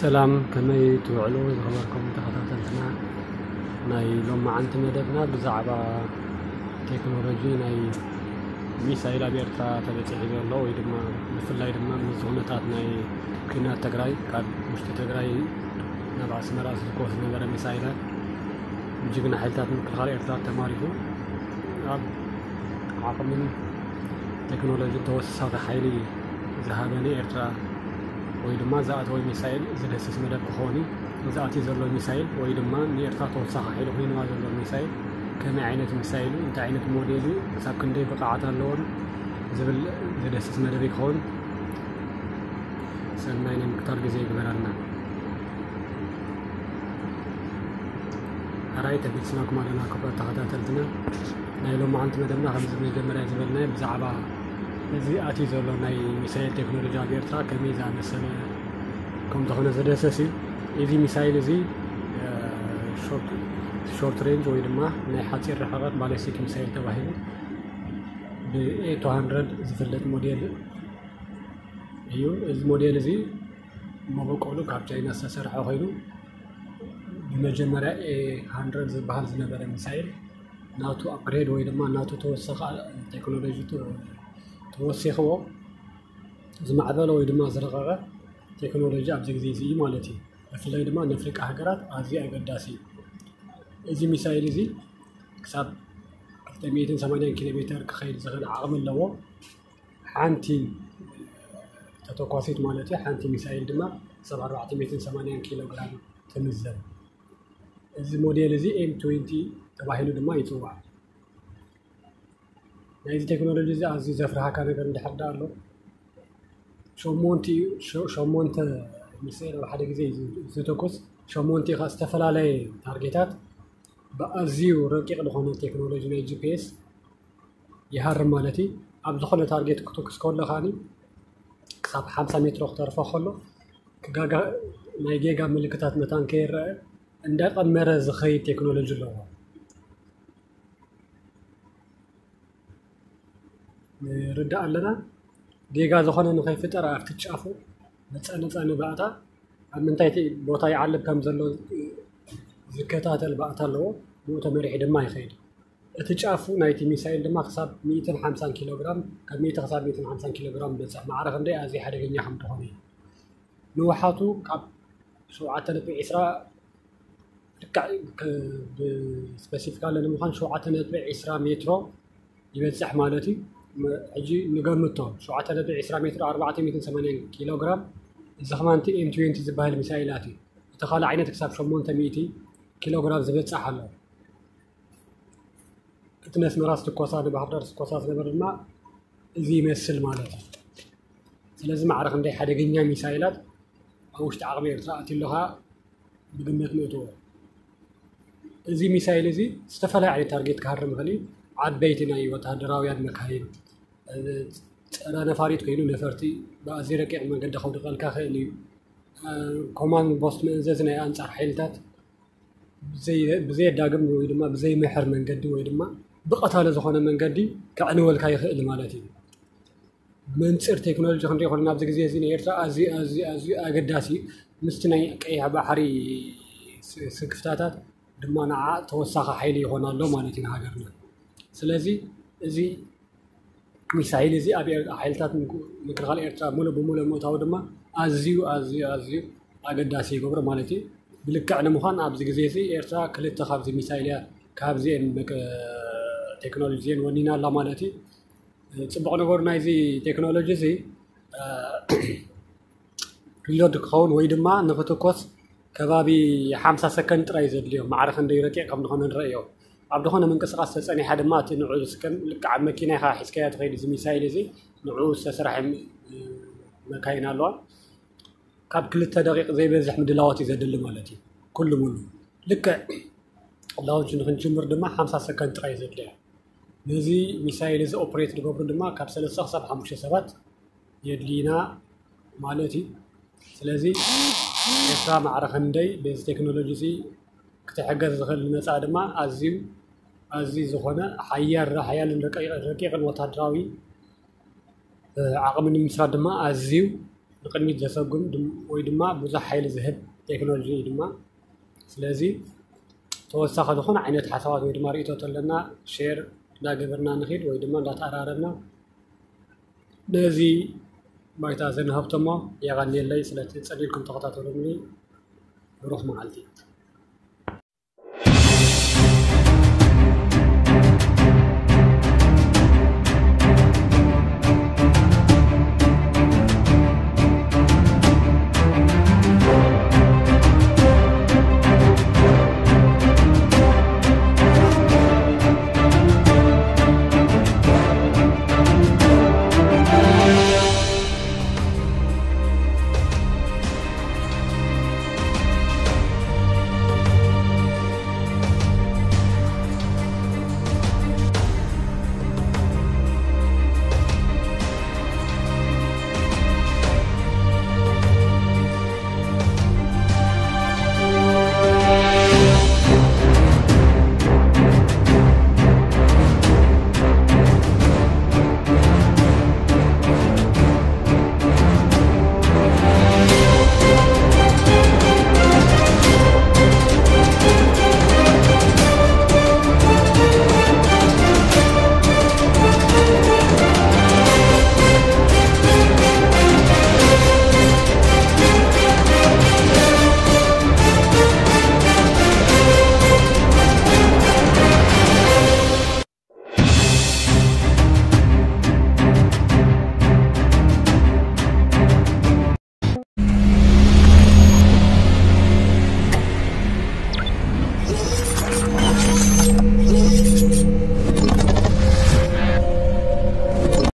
ሰላም፣ ከመይ ትውዕሉ ዝኸበርኩም ተኸታተልትና? ናይ ሎማዓንቲ መደብና ብዛዕባ ቴክኖሎጂ ናይ ሚሳይል ኣብ ኤርትራ ተበፂሑ ዘሎ ወይ ድማ ብፍላይ ድማ ምስ ኩነታት ናይ ኩናት ትግራይ ካብ ውሽጢ ትግራይ ናብ ኣስመራ ዝትኮስ ዝነበረ ሚሳይላት ብጅግና ሓይልታት ምክልኻል ኤርትራ ተማሪኹ ኣብ ዓቕምን ቴክኖሎጂን ተወሳኺ ሓይሊ ዝሃበ ንኤርትራ ወይ ድማ ዝኣተወ ሚሳይል ዝደስስ መደብ ክኸውን እዩ። ዝኣትዩ ዘሎ ሚሳይል ወይ ድማ ንኤርትራ ተወሳኺ ሓይሊ ኮይንዋ ዘሎ ሚሳይል ከመይ ዓይነት ሚሳይል እዩ፣ እንታይ ዓይነት ሞዴል እዩ፣ ክሳብ ክንደይ ብቕዓት ኣለዎን ዝብል ዝደስስ መደብ ይኸውን። ሰናይ ናይ ምክታር ግዜ ይግበረልና። ኣራይ ተመልስናኩም ኣለና ክቡራት ተኸታተልትና። ናይ ሎማዓንቲ መደብና ከምዚ መጀመርያ ዝበልናዮ ብዛዕባ እዚ ኣትዩ ዘሎ ናይ ሚሳይል ቴክኖሎጂ ኣብ ኤርትራ ከመይ ዝኣመሰለ ከም ዝኾነ ዝደሰስ እዩ። እዚ ሚሳይል እዚ ሾርት ሬንጅ ወይ ድማ ናይ ሓፂር ርሕቐት ባለስቲክ ሚሳይል ተባሂሉ ብ ኤ ቱ ሃንድረድ ዝፍለጥ ሞዴል እዩ። እዚ ሞዴል እዚ መበቆሉ ካብ ቻይና ዝተሰርሐ ኮይኑ ብመጀመርያ ኤ ሃንድረድ ዝበሃል ዝነበረ ሚሳይል ናቱ ኣፕግሬድ ወይ ድማ ናቱ ተወሰኸ ቴክኖሎጂ ተወሲኽዎ ዝማዕበለ ወይ ድማ ዝረቐቐ ቴክኖሎጂ ኣብዚ ግዜ እዚ እዩ ማለት እዩ። ብፍላይ ድማ ንኣፍሪቃ ሃገራት ኣዝዩ ኣገዳሲ እዩ። እዚ ሚሳይል እዚ ክሳብ ክልተ ሚእትን ሰማንያን ኪሎ ሜተር ክኸይድ ዝኽእል ዓቕሚ ኣለዎ። ሓንቲ ተተኳሲት ማለት እዩ። ሓንቲ ሚሳይል ድማ ክሳብ ኣርባዕተ ሚእትን ሰማንያን ኪሎ ግራም ትምዘን። እዚ ሞዴል እዚ ኤም ትዌንቲ ተባሂሉ ድማ ይፅዋዕ። ናይዚ ቴክኖሎጂ እዚ ኣዝዩ ዘፍርሃካ ነገር እንድሕር ዳ ኣሎ ሸሞንተ ሸሞንተ ሚሳይል ኣብ ሓደ ግዜ እዩ ዝተኩስ። ሸሞንተ ካ ዝተፈላለየ ታርጌታት ብኣዝዩ ረቂቕ ዝኾነ ቴክኖሎጂ ናይ ጂ ፒ ኤስ ይሃርም ማለት እዩ። ኣብ ዝኾነ ታርጌት ክትኩስ ከሎ ከዓኒ ክሳብ ሓምሳ ሜትሮ ክተርፎ ከሎ ክጋጋ ናይ ጌጋ ምልክታት መታን ከይረአ እንዳቐመረ ዝኸይድ ቴክኖሎጂ ኣለዎ። ንርዳእ ኣለና። ጌጋ ዝኾነ ንኸይፍጠር ኣብቲ ጫፉ መፃ ነፃ ንባእታ ኣብ ምንታይ ቦታ ይዓልብ ከም ዘሎ ዝከታተል ባእታ ኣለዎ። ብኡ ተመሪሑ ድማ ይኸይድ። እቲ ጫፉ ናይቲ ሚሳይል ድማ ክሳብ ሚእትን ሓምሳን ኪሎ ግራም፣ ካብ ሚእቲ ክሳብ ሚእትን ሓምሳን ኪሎ ግራም በፅሕ። ማዕረ ክንደይ ኣዝዩ ሓደገኛ ከም ዝኾነ እዩ። ንውሓቱ ካብ ሸውዓተ ነጥቢ ዕስራ ልክዕ ብስፐሲፊካሊ ንምዃን ሸውዓተ ነጥቢ ዕስራ ሜትሮ ይበፅሕ ማለት እዩ። ሕጂ ንገምቶ ሸውዓተ ነጥቢ ዕስራ ሜትሮ ኣርባዕተ ሚእትን ሰማንያን ኪሎ ግራም እዚ ከማንቲ ኤም ትዌንቲ ዝበሃል ሚሳይላት እዩ። እቲ ካልእ ዓይነት ክሳብ ሸሞንተ ሚእቲ ኪሎ ግራም ዝበፅሕ ኣሎ። እቲ ነስመራ ዝትኮሳ ንባህር ዳር ዝትኮሳ ዝነበረ ድማ እዚ ይመስል ማለት እዩ። ስለዚ ማዕረ ክንደይ ሓደገኛ ሚሳይላት ኣብ ውሽጢ ዓቕሚ ኤርትራ ኣትዩ ኣሎ ከዓ ብግምት ንእትዎ። እዚ ሚሳይል እዚ ዝተፈላለዩ ዓይነት ታርጌት ክሃርም ይኽእል እዩ። ዓበይቲ ናይ ወታደራውያን መካይን፣ ፀረ ነፋሪት ኮይኑ ነፈርቲ ብኣዝዩ ረቂቕ መንገዲ ከውድቐልካ ይኽእል እዩ። ኮማንድ ፖስት መእዘዚ ናይ ኣንፃር ሓይልታት ብዘየዳግም ወይ ድማ ብዘይምሕር መንገዲ ወይ ድማ ብቐታሊ ዝኾነ መንገዲ ከዕንወልካ ይኽእል ማለት እዩ። መንፅር ቴክኖሎጂ ክንሪኦ ከለና ኣብዚ ግዜ እዚ ንኤርትራ ኣዝዩ ኣዝዩ ኣዝዩ ኣገዳሲ እዩ። ምስቲ ናይ ቀይሕ ባሕሪ ስክፍታታት ድማ ንዓ ተወሳኺ ሓይሊ ይኾን ኣሎ ማለት እዩ ንሃገርና። ስለዚ እዚ ሚሳይል እዚ ኣብ ሓይልታት ምክልኻል ኤርትራ ሙሉእ ብሙሉእ ምእታው ድማ ኣዝዩ ኣዝዩ ኣዝዩ ኣገዳሲ ይገብሮ ማለት እዩ። ብልክዕ ንምዃን ኣብዚ ግዜ እዚ ኤርትራ ክልተ ካብዚ ሚሳይል እያ ካብዚአን ቴክኖሎጂ እዚአን ወኒና ኣላ ማለት እዩ። ፅቡቕ ነገሩ ናይዚ ቴክኖሎጂ እዚ ሪሎድ ክኸውን ወይ ድማ ንክትኮስ ከባቢ ሓምሳ ሰከንድ ጥራይ ዘድልዮ ማዕረ ክንደይ ረቂቕ ከም ዝኾነ ንረእዮ። ኣብ ዝኾነ ምንቅስቃስ ተፀኒሓ ድማ እቲ ንዑ ስከን ልክዕ ኣብ መኪና ኢኻ ሒዝካዮ ትኸይድ። እዚ ሚሳይል እዚ ንዑ ዝተሰርሐ መካይን ኣለዋ። ካብ ክልተ ደቂቕ ዘይበዝሕ ምድላዋት እዩ ዘድሊ ማለት እዩ። ኩሉ ሙሉ ልክዕ ላውንች ንክንጅምር ድማ ሓምሳ ሰከንድ ጥራይ ዘድልያ። ነዚ ሚሳይል እዚ ኦፕሬት ዝገብሩ ድማ ካብ ሰለስተ ክሳብ ሓሙሽተ ሰባት የድልይና ማለት እዩ። ስለዚ ኤርትራ ማዕረ ክንደይ በዚ ቴክኖሎጂ እዚ ክትሕገዝ ዝኽእል ዝመፅኣ ድማ ኣዝዩ ኣዝዩ ዝኾነ ሓያል ሓያልን ረቂቕን ወታደራዊ ዓቕሚ ንምስራት ድማ ኣዝዩ ንቅድሚት ዘሰጉም ወይ ድማ ብዙሕ ሓይሊ ዝህብ ቴክኖሎጂ እዩ ድማ። ስለዚ ተወሳኺ ዝኾነ ዓይነት ሓሳባት ወይ ድማ ርእቶ ተለና ሼር እንዳገበርና ንኽድ ወይ ድማ እንዳተኣራረብና ነዚ ባይታ ዘንሃብቶሞ። የቐንየለይ ስለቲ ጸሊልኩም ተኸታተሉኒ። ብሩኽ መዓልቲ።